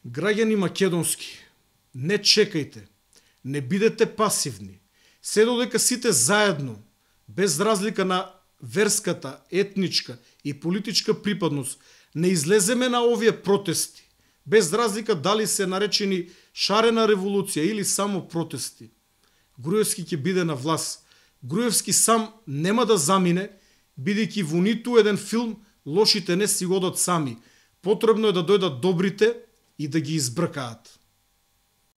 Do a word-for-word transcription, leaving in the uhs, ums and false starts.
Граѓани македонски, не чекајте, не бидете пасивни. Се додека сите заедно, без разлика на верската, етничка и политичка припадност, не излеземе на овие протести, без разлика дали се наречени шарена револуција или само протести, Груевски ќе биде на власт. Груевски сам нема да замине, бидејќи во ниту еден филм лошите не си одат сами. Потребно е да дојдат добрите и да ги избркаат.